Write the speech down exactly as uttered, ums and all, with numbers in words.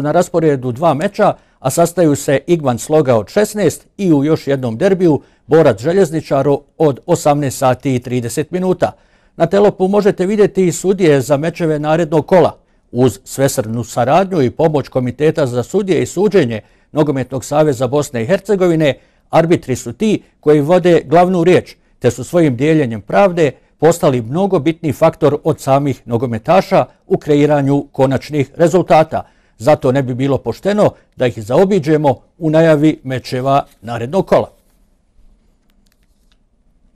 Na rasporedu dva meča, a sastaju se Igman Sloga od šesnaest i u još jednom derbiju Borac Željezničaru od osamnaest sati i trideset minuta. Na Telopu možete vidjeti i sudije za mečeve narednog kola. Uz svesrdnu saradnju i pomoć Komiteta za sudije i suđenje Nogometnog saveza Bosne i Hercegovine, arbitri su ti koji vode glavnu riječ, te su svojim dijeljenjem pravde postali mnogo bitniji faktor od samih nogometaša u kreiranju konačnih rezultata. Zato ne bi bilo pošteno da ih zaobiđemo u najavi mečeva narednog kola.